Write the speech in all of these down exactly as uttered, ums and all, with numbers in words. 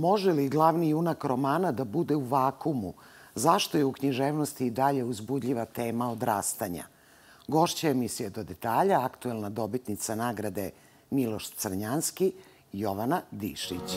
može li glavni junak romana da bude u vakumu? Zašto je u književnosti i dalje uzbudljiva tema odrastanja? Gošća emisije Do detalja, aktuelna dobitnica nagrade Miloš Crnjanski, Jovana Dišić.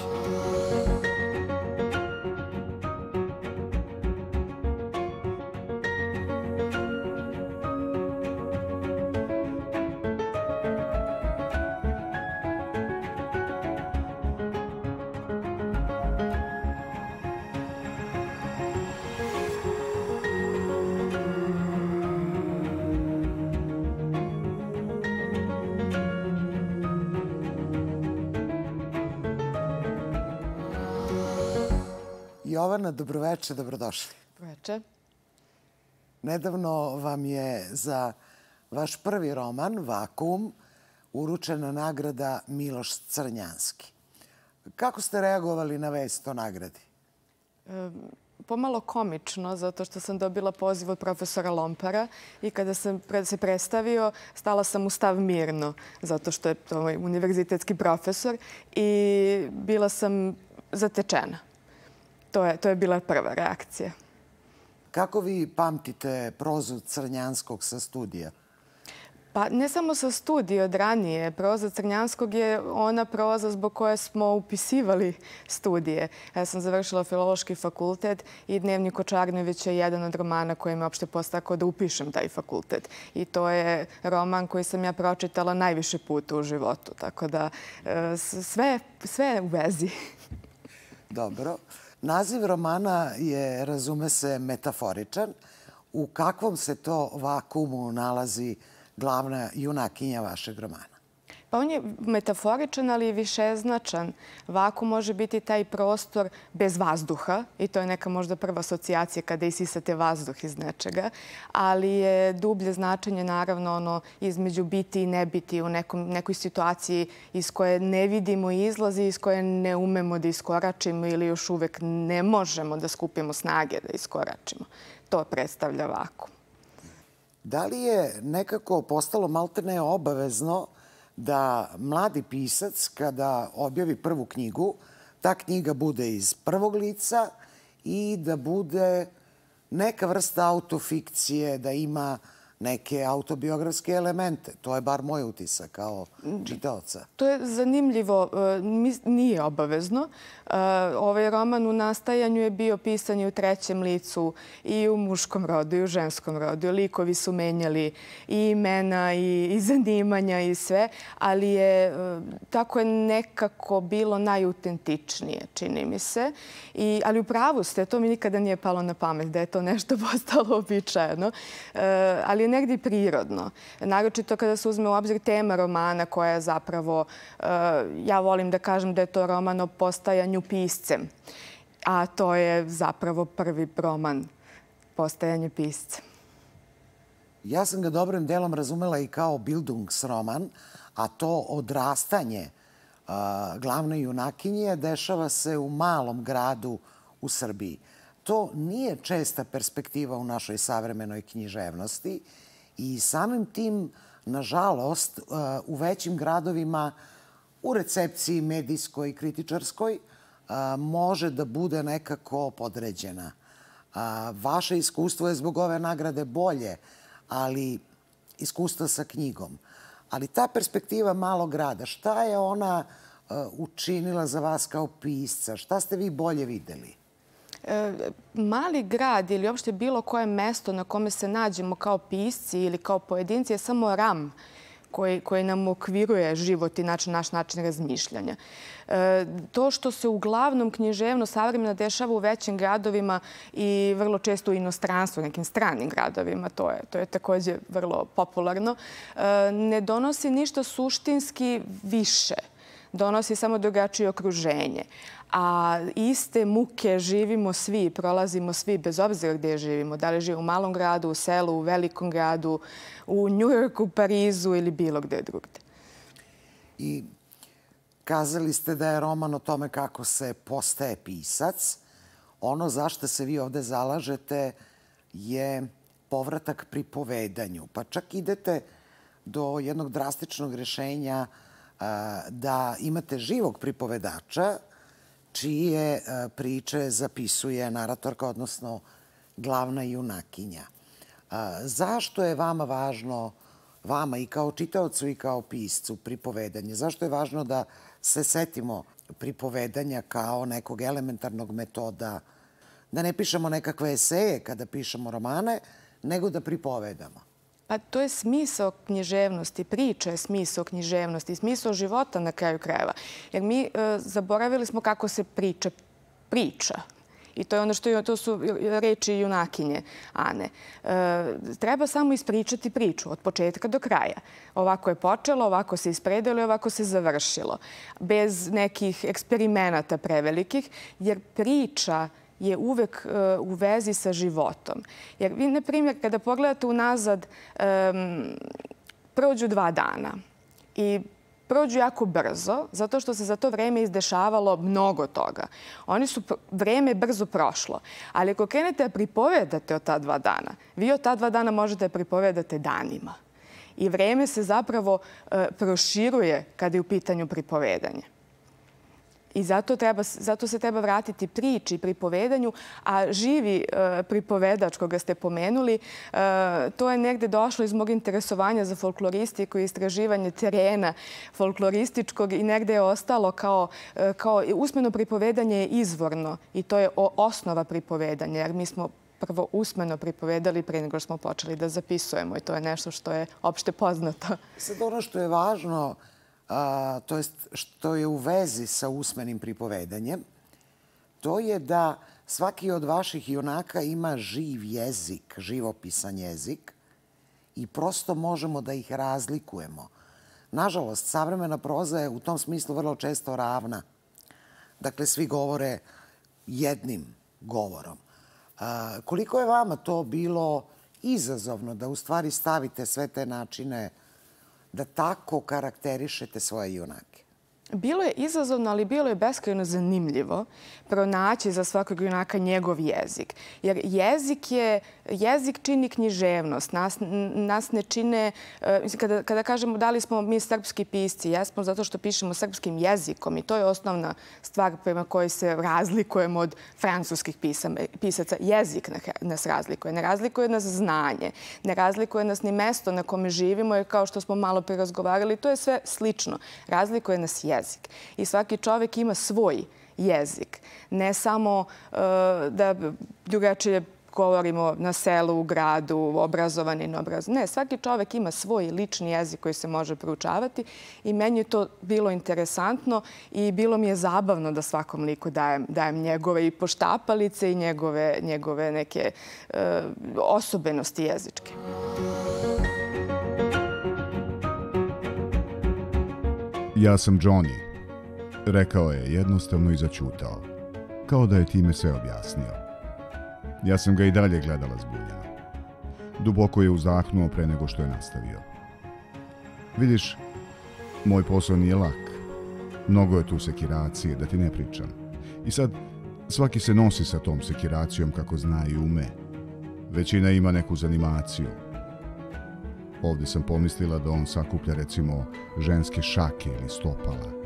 Jovana, dobroveče, dobrodošli. Dobroveče. Nedavno vam je za vaš prvi roman, Vakuum, uručena nagrada Miloš Crnjanski. Kako ste reagovali na vest o nagradi? Pomalo komično, zato što sam dobila poziv od profesora Lompara i kada sam se predstavio, stala sam u stav mirno, zato što je to univerzitetski profesor i bila sam zatečena. To je, to je bila prva reakcija. Kako vi pamtite prozu Crnjanskog sa studija? Pa ne samo sa studija, od ranije. Proza Crnjanskog je ona proza zbog koje smo upisivali studije. Ja sam završila Filološki fakultet i Dnevnik Očarnovića je jedan od romana koji me uopšte postakao da upišem taj fakultet. I to je roman koji sam ja pročitala najviše puta u životu. Tako da sve, sve je u vezi. Dobro. Naziv romana je, razume se, metaforičan. U kakvom se to vakuumu nalazi glavna junakinja vašeg romana? Pa on je metaforičan, ali i višeznačan. Vakuum može biti taj prostor bez vazduha i to je neka možda prva asocijacija kada isisate vazduh iz nečega, ali je dublje značenje naravno ono između biti i ne biti u nekom, nekoj situaciji iz koje ne vidimo izlazi, iz koje ne umemo da iskoračimo ili još uvek ne možemo da skupimo snage da iskoračimo. To predstavlja vakuum. Da li je nekako postalo maltene obavezno da mladi pisac, kada objavi prvu knjigu, ta knjiga bude iz prvog lica i da bude neka vrsta autofikcije, da ima neke autobiografske elemente? To je bar moj utisak kao čitaoca. To je zanimljivo. Nije obavezno. Ovaj roman u nastajanju je bio pisan i u trećem licu i u muškom rodu i u ženskom rodu. Likovi su menjali i imena i zanimanja i sve, ali je tako je nekako bilo najautentičnije, čini mi se. Ali u pravu ste, to mi nikada nije palo na pamet da je to nešto postalo običajeno. Ali je negdje prirodno. Naročito kada se uzme u obzir tema romana koja je zapravo, ja volim da kažem da je to roman o postajanju piscem. A to je zapravo prvi roman, postajanje piscem. Ja sam ga dobrim delom razumela i kao Bildungsroman, a to odrastanje glavne junakinje dešava se u malom gradu u Srbiji. To nije česta perspektiva u našoj savremenoj književnosti i samim tim, nažalost, u većim gradovima, u recepciji medijskoj i kritičarskoj, može da bude nekako podređena. Vaše iskustvo je zbog ove nagrade bolje, ali iskustvo sa knjigom. Ali ta perspektiva malog grada, šta je ona učinila za vas kao pisca? Šta ste vi bolje videli? Mali grad ili uopšte bilo koje mesto na kome se nađemo kao pisci ili kao pojedinci je samo ram koji nam okviruje život i naš način razmišljanja. To što se uglavnom književno savremeno dešava u većim gradovima i vrlo često u inostranstvu, nekim stranim gradovima, to je, to je također vrlo popularno, ne donosi ništa suštinski više. Donosi samo drugačije okruženje. A iste muke živimo svi, prolazimo svi, bez obzira gdje živimo. Da li živimo u malom gradu, u selu, u velikom gradu, u Njujorku, Parizu ili bilo gdje drugdje. I kazali ste da je roman o tome kako se postaje pisac. Ono zašto se vi ovdje zalažete je povratak pripovedanju. Pa čak idete do jednog drastičnog rješenja da imate živog pripovedača, čije priče zapisuje naratorka, odnosno glavna junakinja. Zašto je vama važno, vama i kao čitaocu i kao piscu, pripovedanje? Zašto je važno da se setimo pripovedanja kao nekog elementarnog metoda, da ne pišemo nekakve eseje kada pišemo romane, nego da pripovedamo? Pa to je smisao književnosti, priča je smisao književnosti, smisao života na kraju krajeva. Jer mi zaboravili smo kako se priča priča. I to je ono što to su reči junakinje Ane. Treba samo ispričati priču od početka do kraja. Ovako je počelo, ovako se ispredilo i ovako se završilo. Bez nekih eksperimenata prevelikih, jer priča je uvek u vezi sa životom. Jer vi, na primjer, kada pogledate unazad, prođu dva dana i prođu jako brzo, zato što se za to vreme izdešavalo mnogo toga. Oni su, vreme brzo prošlo. Ali ako krenete da pripovedate o ta dva dana, vi o ta dva dana možete da pripovedate danima. I vreme se zapravo proširuje kada je u pitanju pripovedanje. I zato, treba, zato se treba vratiti priči, pripovedanju, a živi e, pripovedač koga ste pomenuli, e, to je negde došlo iz mog interesovanja za folkloristiku i istraživanje terena folklorističkog i negde je ostalo kao, e, kao usmeno pripovedanje je izvorno i to je osnova pripovedanja, jer mi smo prvo usmeno pripovedali pre nego smo počeli da zapisujemo i to je nešto što je opšte poznato. Sad ono što je važno, A, to jest što je u vezi sa usmenim pripovedanjem, to je da svaki od vaših junaka ima živ jezik, živopisan jezik i prosto možemo da ih razlikujemo. Nažalost, savremena proza je u tom smislu vrlo često ravna. Dakle, svi govore jednim govorom. A, koliko je vama to bilo izazovno da u stvari stavite sve te načine da tako karakterišete svoje junake? Bilo je izazovno, ali bilo je beskrajno zanimljivo pronaći za svakog junaka njegov jezik. Jer jezik je, jezik čini književnost. Nas, nas ne čine, kada, kada kažemo da li smo mi srpski pisci, jesmo zato što pišemo srpskim jezikom i to je osnovna stvar prema kojoj se razlikujemo od francuskih pisama, pisaca. Jezik nas razlikuje. Ne razlikuje nas znanje. Ne razlikuje nas ni mesto na kome živimo, jer kao što smo malo pre razgovarali, to je sve slično. Razlikuje nas jezik. Jezik. I svaki čovjek ima svoj jezik. Ne samo uh, da drugačije govorimo na selu, u gradu, obrazovani, neobrazovani. Ne, svaki čovjek ima svoj lični jezik koji se može proučavati i meni je to bilo interesantno i bilo mi je zabavno da svakom liku dajem, dajem njegove i poštapalice i njegove, njegove neke uh, osobenosti jezičke. Ja sam Johnny, rekao je jednostavno i zaćutao, kao da je time sve objasnio. Ja sam ga i dalje gledala zbunjeno. Duboko je uzdahnuo pre nego što je nastavio. Vidiš, moj posao nije lak. Mnogo je tu sekiracije, da ti ne pričam. I sad, svaki se nosi sa tom sekiracijom kako zna i ume. Većina ima neku zanimaciju. Ovdje sam pomislila da on sakuplja recimo ženske šake ili stopala.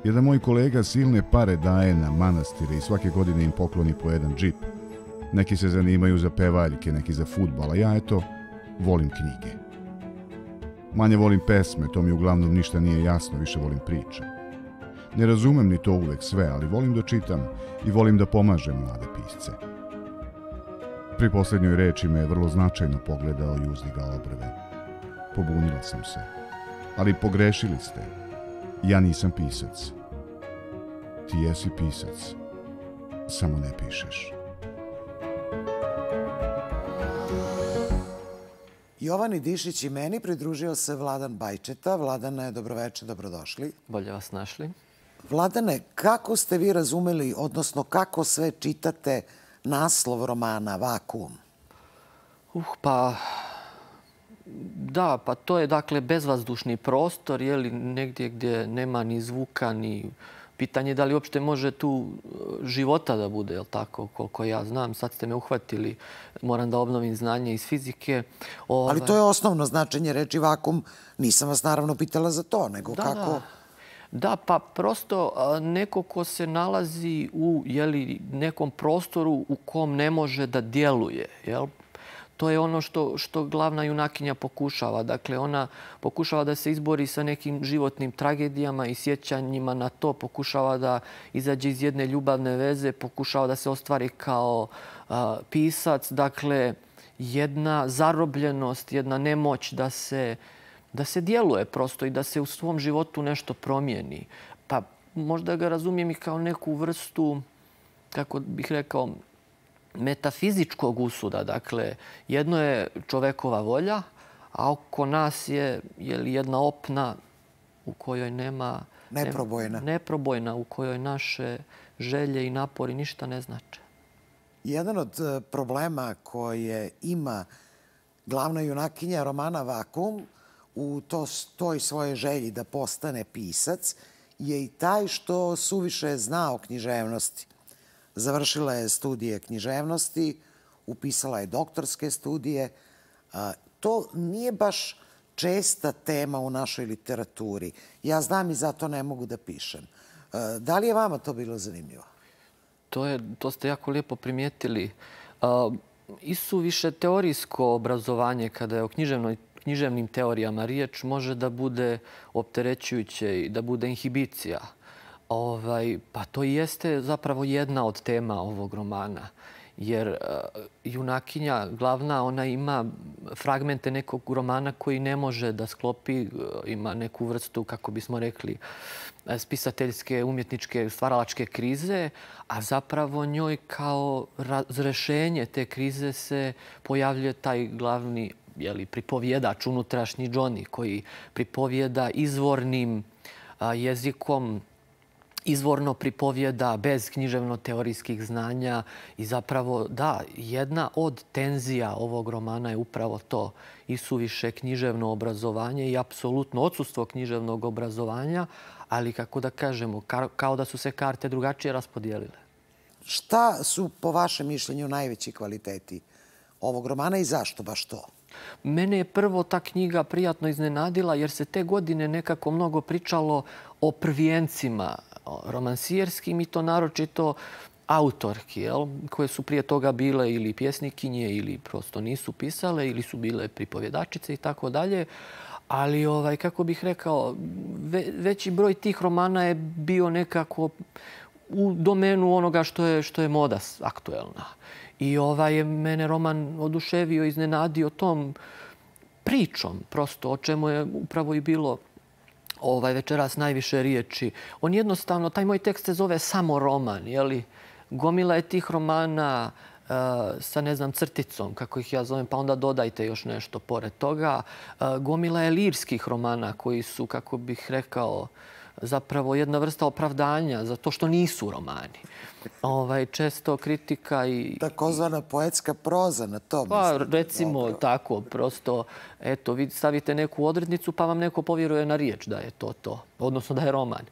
Jedan moj kolega silne pare daje na manastire i svake godine im pokloni po jedan džip. Neki se zanimaju za pevaljke, neki za fudbal, a ja eto volim knjige. Manje volim pesme, to mi uglavnom ništa nije jasno, više volim priče. Ne razumem ni to uvek sve, ali volim da čitam i volim da pomažem mlade pisce. Pri posljednjoj reči me je vrlo značajno pogledao i uzdigao brve. Pobunila sam se. Ali pogrešili ste. Ja nisam pisac. Ti jesi pisac. Samo ne pišeš. Jovani Dišić i meni pridružio se Vladan Bajčeta. Vladane, dobroveče, dobrodošli. Bolje vas našli. Vladane, kako ste vi razumeli, odnosno kako sve čitate naslov romana Vakuum? Uh, pa... Da, pa to je dakle bezvazdušni prostor, je li, negdje gdje nema ni zvuka, ni pitanje da li uopšte može tu života da bude, je li tako, koliko ja znam. Sad ste me uhvatili, moram da obnovim znanje iz fizike. Ova... Ali to je osnovno značenje reči vakuum. Nisam vas naravno pitala za to, nego da, kako... Da. Da, pa prosto neko ko se nalazi u jeli, nekom prostoru u kom ne može da djeluje. Jel? To je ono što, što glavna junakinja pokušava. Dakle, ona pokušava da se izbori sa nekim životnim tragedijama i sjećanjima na to. Pokušava da izađe iz jedne ljubavne veze, pokušava da se ostvari kao a, pisac. Dakle, jedna zarobljenost, jedna nemoć da se, da se djeluje prosto i da se u svom životu nešto promijeni. Pa možda ga razumijem i kao neku vrstu, kako bih rekao, metafizičkog usuda. Dakle, jedno je čovekova volja, a oko nas je, je li jedna opna u kojoj nema... Neprobojna. Neprobojna, u kojoj naše želje i napori ništa ne znače. Jedan od problema koje ima glavna junakinja romana Vakuum u to, toj svojoj želji da postane pisac je i taj što suviše zna o književnosti. Završila je studije književnosti, upisala je doktorske studije. To nije baš česta tema u našoj literaturi. Ja znam i zato ne mogu da pišem. Da li je vama to bilo zanimljivo? To, je, to ste jako lijepo primijetili. Uh, isuviše teorijsko obrazovanje, kada je o književnoj, književnim teorijama riječ, može da bude opterećujuće i da bude inhibicija. Ovaj, pa to i jeste zapravo jedna od tema ovog romana. Jer uh, junakinja glavna, ona ima fragmente nekog romana koji ne može da sklopi, uh, ima neku vrstu, kako bismo rekli, spisateljske, umjetničke, stvaralačke krize, a zapravo njoj kao razrešenje te krize se pojavljuje taj glavni jeli, pripovjedač, unutrašnji Johnny, koji pripovjeda izvornim a, jezikom, izvorno pripovjeda bez književno-teorijskih znanja i zapravo, da, jedna od tenzija ovog romana je upravo to. Isuviše književno obrazovanje i apsolutno odsustvo književnog obrazovanja, ali kako da kažemo, kao da su se karte drugačije raspodijelile. Šta su, po vašem mišljenju, najveći kvaliteti ovog romana i zašto baš to? Mene je prvo ta knjiga prijatno iznenadila jer se te godine nekako mnogo pričalo o prvijencima romansijerskim i to naročito autorki, jel, koje su prije toga bile ili pjesnikinje ili prosto nisu pisale ili su bile pripovjedačice i tako dalje. Ali, ovaj, kako bih rekao, ve, veći broj tih romana je bio nekako u domenu onoga što je, što je moda aktuelna. I ovaj, mene roman oduševio, iznenadio tom pričom, prosto o čemu je upravo i bilo ovaj, večeras najviše riječi. On jednostavno, taj moj tekst se zove samo roman, jeli? Gomila je tih romana uh, sa, ne znam, crticom, kako ih ja zovem, pa onda dodajte još nešto pored toga. Uh, gomila je lirskih romana koji su, kako bih rekao, zapravo jedna vrsta opravdanja za to što nisu romani. Ovaj, često kritika i... Takozvana poetska proza na to. Pa, mislim, recimo dobro. tako, prosto, eto, vi stavite neku odrednicu pa vam neko povjeruje na riječ da je to to, odnosno da je roman.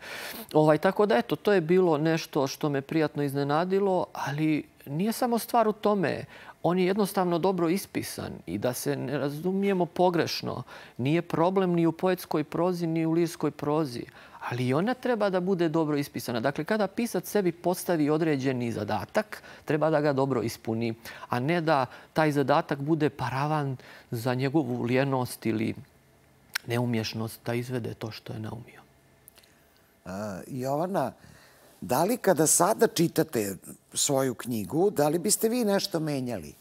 Ovaj, tako da, eto, to je bilo nešto što me prijatno iznenadilo, ali nije samo stvar u tome. On je jednostavno dobro ispisan i da se ne razumijemo pogrešno. Nije problem ni u poetskoj prozi, ni u lirskoj prozi. Ali i ona treba da bude dobro ispisana. Dakle, kada pisac sebi postavi određeni zadatak, treba da ga dobro ispuni, a ne da taj zadatak bude paravan za njegovu lijenost ili neumješnost da izvede to što je naumio. Uh, Jovana, da li kada sada čitate svoju knjigu, da li biste vi nešto menjali?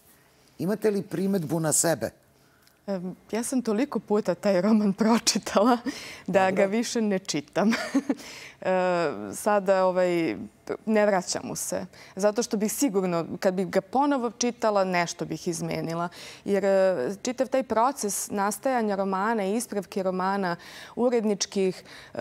Imate li primetbu na sebe? Ja sam toliko puta taj roman pročitala da ga više ne čitam. Sada ovaj, ne vraćam mu se. Zato što bih sigurno, kad bih ga ponovo čitala, nešto bih izmenila. Jer čitav taj proces nastajanja romana i ispravke romana, uredničkih uh,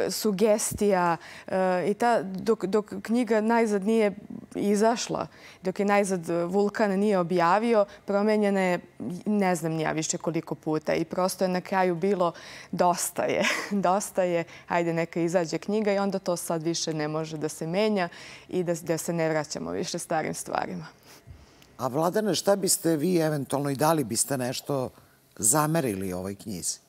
sugestija uh, i ta, dok, dok knjiga najzad nije izašla, dok je najzad Vulkan nije objavio, promenjena je ne znam ni ja više koliko puta i prosto je na kraju bilo dosta je, dosta je, hajde neka izađe knjiga i onda to sad više ne može da se menja i da, da se ne vraćamo više starim stvarima. A Vladane, šta biste vi eventualno i da li biste nešto zamerili ovoj knjizi?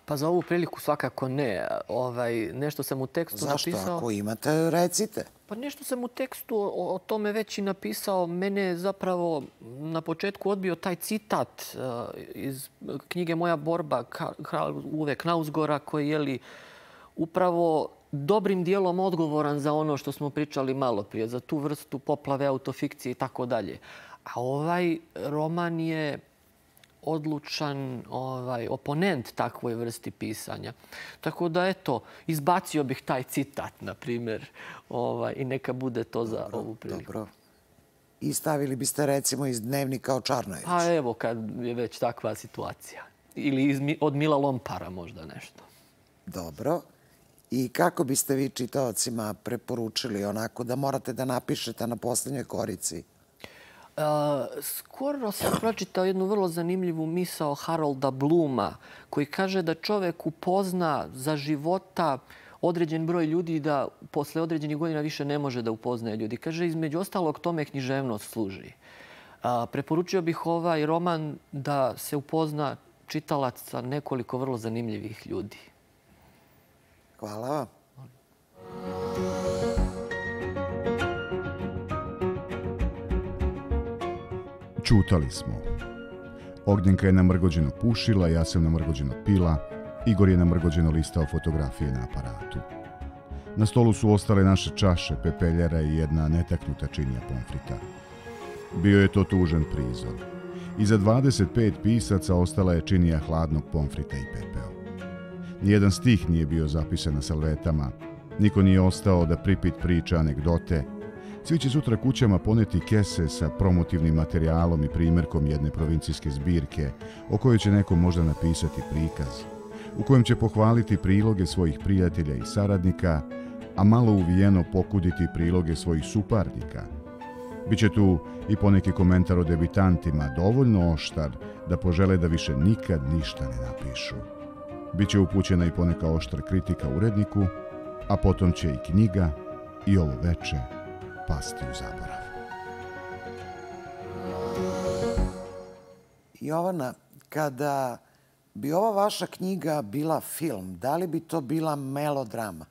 Pa za ovu priliku svakako ne. Ovaj, nešto sam u tekstu Zašto? napisao... Zašto? Ako imate, recite. Pa nešto sam u tekstu o, o tome već i napisao. Mene je zapravo na početku odbio taj citat uh, iz knjige Moja borba, kralj Uwe Knausgora, koji je li upravo dobrim dijelom odgovoran za ono što smo pričali malo prije, za tu vrstu poplave, autofikcije i tako dalje. A ovaj roman je odlučan ovaj, oponent takvoj vrsti pisanja. Tako da, eto, izbacio bih taj citat, na primjer, ovaj, i neka bude to za dobro, ovu priliku. Dobro. I stavili biste, recimo, iz Dnevnika o Čarnojeviću. Pa evo, kad je već takva situacija. Ili iz, od Mila Lompara možda nešto. Dobro. I kako biste vi čitaocima preporučili onako da morate da napišete na posljednjoj korici? Uh, skoro sam pročitao jednu vrlo zanimljivu misao Harolda Bluma, koji kaže da čovek upozna za života određen broj ljudi, da posle određenih godina više ne može da upoznaje ljudi. Kaže, između ostalog, tome književnost služi. Uh, preporučio bih ovaj roman da se upozna čitalac sa nekoliko vrlo zanimljivih ljudi. Hvala vam. Čutali smo. Ognjenka je namrgođeno pušila, ja sam namrgođeno pila, Igor je namrgođeno listao fotografije na aparatu. Na stolu su ostale naše čaše, pepeljara i jedna netaknuta činija pomfrita. Bio je to tužan prizor. Iza dvadeset pet pisaca ostala je činija hladnog pomfrita i pepeo. Nijedan stih nije bio zapisan na salvetama, niko nije ostao da pripit priča anegdote. Svi će sutra kućama poneti kese sa promotivnim materijalom i primjerkom jedne provincijske zbirke o kojoj će neko možda napisati prikaz, u kojem će pohvaliti priloge svojih prijatelja i saradnika, a malo uvijeno pokuditi priloge svojih suparnika. Biće tu i poneki komentar o debitantima, dovoljno oštar da požele da više nikad ništa ne napišu. Biće upućena i poneka oštra kritika uredniku, a potom će i knjiga i ovo veče pasti u zaborav. Jovana, kada bi ova vaša knjiga bila film, da li bi to bila melodrama?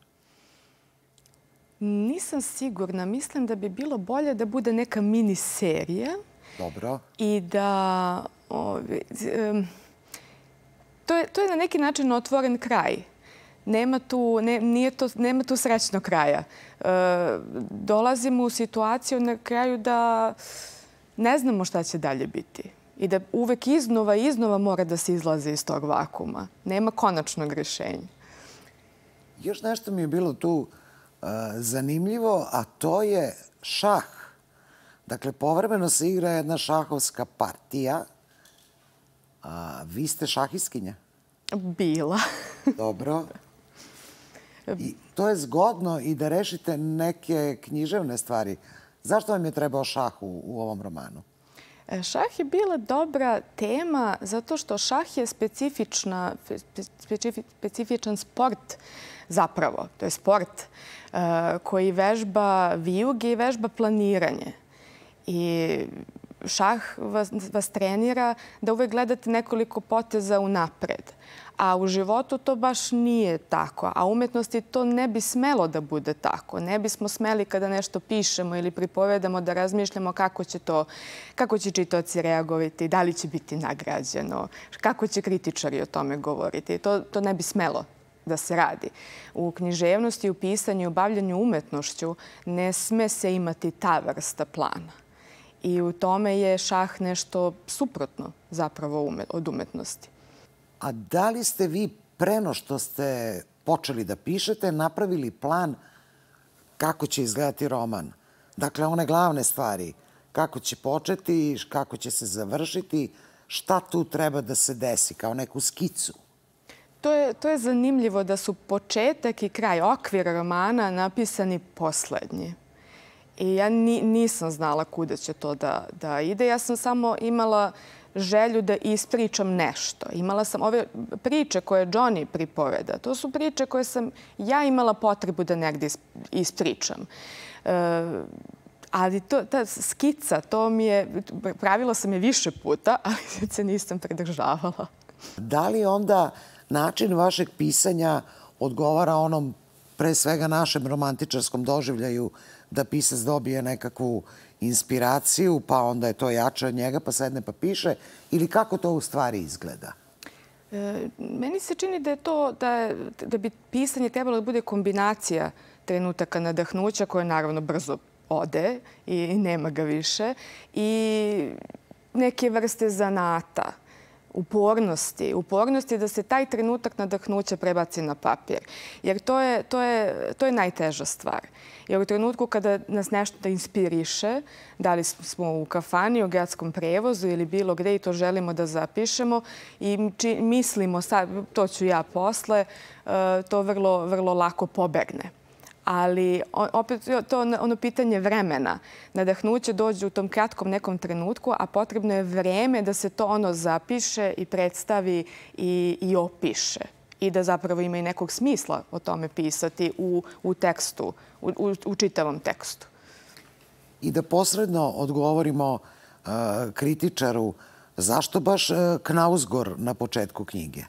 Nisam sigurna. Mislim da bi bilo bolje da bude neka miniserija. Dobro. I da... Ovi, um, to, je, to je na neki način otvoren kraj. Nema tu, ne, nije to, nema tu srećnog kraja. E, dolazimo u situaciju na kraju da ne znamo šta će dalje biti. I da uvek iznova i iznova mora da se izlaze iz tog vakuma. Nema konačnog rješenja. Još nešto mi je bilo tu uh, zanimljivo, a to je šah. Dakle, povremeno se igra jedna šahovska partija. A, vi ste šahistkinja? Bila. Dobro. I to je zgodno i da rešite neke književne stvari. Zašto vam je trebao šah u, u ovom romanu? Šah je bila dobra tema zato što šah je specifična, specifi, specifičan sport zapravo. To je sport uh, koji vežba vijuge i vežba planiranje. I šah vas, vas trenira da uvek gledate nekoliko poteza unapred. A u životu to baš nije tako. A u umetnosti to ne bi smelo da bude tako. Ne bismo smeli kada nešto pišemo ili pripovedamo da razmišljamo kako će to, kako će čitaoci reagovati, da li će biti nagrađeno, kako će kritičari o tome govoriti. To, to ne bi smelo da se radi. U književnosti, u pisanju, u bavljanju umetnošću ne sme se imati ta vrsta plana. I u tome je šah nešto suprotno zapravo od umetnosti. A da li ste vi preno što ste počeli da pišete napravili plan kako će izgledati roman? Dakle, one glavne stvari. Kako će početi, kako će se završiti, šta tu treba da se desi kao neku skicu? To je, to je zanimljivo da su početak i kraj, okvir romana napisani poslednji. I ja ni, nisam znala kuda će to da, da ide. Ja sam samo imala želju da ispričam nešto. Imala sam ove priče koje Johnny pripoveda. To su priče koje sam ja imala potrebu da negdje ispričam. E, ali to, ta skica, to mi je, pravila sam je više puta, ali se nisam pridržavala. Da li onda način vašeg pisanja odgovara onom pre svega našem romantičarskom doživljaju da pisac dobije nekakvu inspiraciju, pa onda je to jače od njega, pa sedne pa piše, ili kako to u stvari izgleda? E, meni se čini da je to, da, da bi pisanje trebalo da bude kombinacija trenutaka nadahnuća koje naravno brzo ode i nema ga više i neke vrste zanata, upornosti, upornosti da se taj trenutak nadahnuća prebaci na papir. Jer to je, to je, to je najteža stvar. Jer u trenutku kada nas nešto inspiriše, da li smo u kafani, u gradskom prevozu ili bilo gde i to želimo da zapišemo i či, mislimo, sad, to ću ja posle, to vrlo, vrlo lako pobegne. Ali opet to ono pitanje vremena. Nadahnuće dođe u tom kratkom nekom trenutku, a potrebno je vreme da se to ono zapiše i predstavi i, i opiše. I da zapravo ima i nekog smisla o tome pisati u, u tekstu, u, u, u čitavom tekstu. I da posredno odgovorimo uh, kritičaru, zašto baš uh, Knausgård na početku knjige?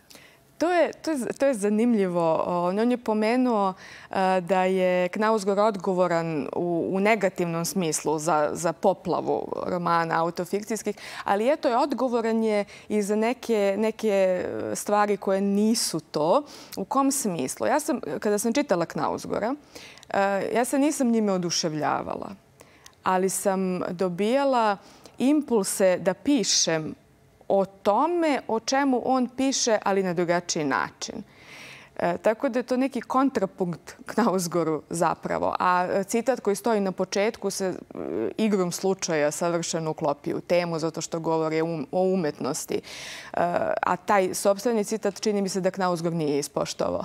To je, to, je, to je zanimljivo. On je pomenuo da je Knausgård odgovoran u, u negativnom smislu za, za poplavu romana autofikcijskih, ali eto je odgovoran je i za neke, neke stvari koje nisu to. U kom smislu? Ja sam, kada sam čitala Knausgårda, ja se nisam njime oduševljavala, ali sam dobijala impulse da pišem o tome o čemu on piše, ali na drugačiji način. E, tako da je to neki kontrapunkt Knausgårdu zapravo. A citat koji stoji na početku se e, igrom slučaja savršeno uklopi u temu zato što govori um, o umetnosti. E, a taj sopstveni citat čini mi se da Knausgård nije ispoštovao.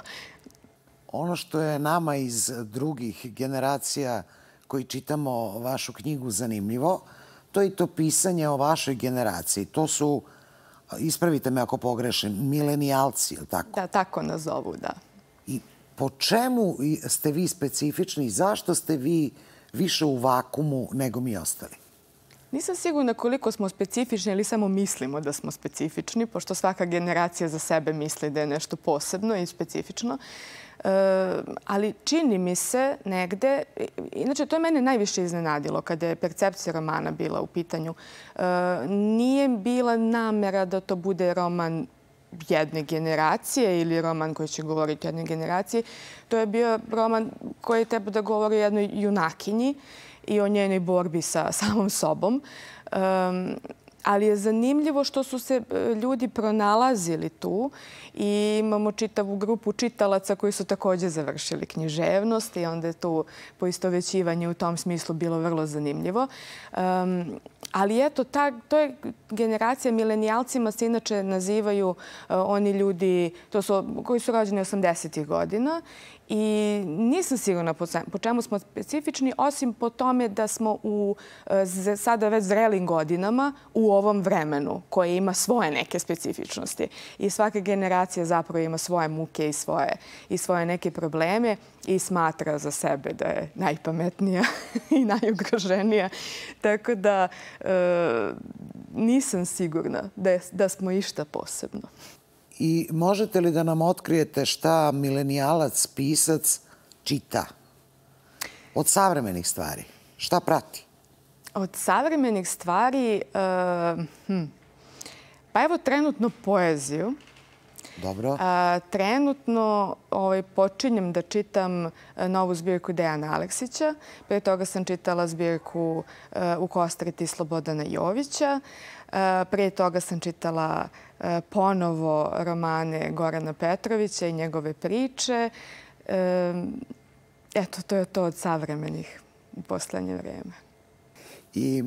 Ono što je nama iz drugih generacija koji čitamo vašu knjigu zanimljivo, to je i to pisanje o vašoj generaciji. To su, ispravite me ako pogrešim, milenijalci, je li tako? Da, tako nazovu, da. I po čemu ste vi specifični i zašto ste vi više u vakumu nego mi ostali? Nisam sigurna koliko smo specifični ili samo mislimo da smo specifični, pošto svaka generacija za sebe misli da je nešto posebno i specifično. E, ali čini mi se negde, inače to je mene najviše iznenadilo kada je percepcija romana bila u pitanju. E, nije bila namera da to bude roman jedne generacije ili roman koji će govoriti o jednoj generaciji. To je bio roman koji treba da govori o jednoj junakinji i o njenoj borbi sa samom sobom. Um, ali je zanimljivo što su se ljudi pronalazili tu i imamo čitavu grupu čitalaca koji su također završili književnost i onda je tu poistovećivanje u tom smislu bilo vrlo zanimljivo. Um, ali eto, ta, to je generacija, milenijalcima se inače nazivaju uh, oni ljudi to su, koji su rođeni osamdesetih godina i nisam sigurna po, po čemu smo specifični, osim po tome da smo u uh, sada već zrelim godinama u ovom vremenu koje ima svoje neke specifičnosti. I svaka generacija zapravo ima svoje muke i svoje, i svoje neke probleme i smatra za sebe da je najpametnija i najugroženija. Tako da e, nisam sigurna da, je, da smo išta posebno. I možete li da nam otkrijete šta milenijalac, pisac čita od savremenih stvari? Šta prati? Od savremenih stvari, e, hm, pa evo trenutno poeziju. Dobro. A, trenutno ovaj, počinjem da čitam novu zbirku Dejana Aleksića. Prije toga sam čitala zbirku a, U kostriti Slobodana Jovića. A, prije toga sam čitala a, ponovo romane Gorana Petrovića i njegove priče. A, eto, to je to od savremenih u poslednje vreme. I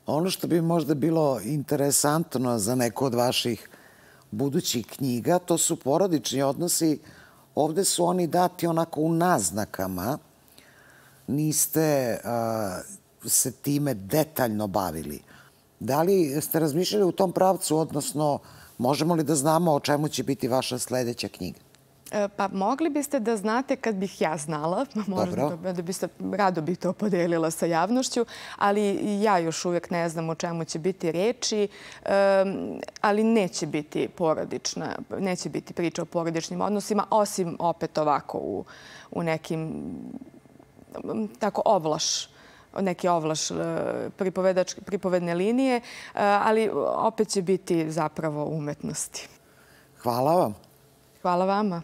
ono što bi možda bilo interesantno za neku od vaših budućih knjiga, to su porodični odnosi. Ovde su oni dati onako u naznakama. Niste uh, se time detaljno bavili. Da li ste razmišljali u tom pravcu, odnosno možemo li da znamo o čemu će biti vaša sledeća knjiga? Pa mogli biste da znate kad bih ja znala. Možda da biste, rado bih to podelila sa javnošću, ali ja još uvijek ne znam o čemu će biti reči, ali neće biti porodična, neće biti priča o porodičnim odnosima, osim opet ovako u, u nekim tako ovlaš, neke ovlaš pripovedne linije, ali opet će biti zapravo umetnosti. Hvala vam. Hvala vama.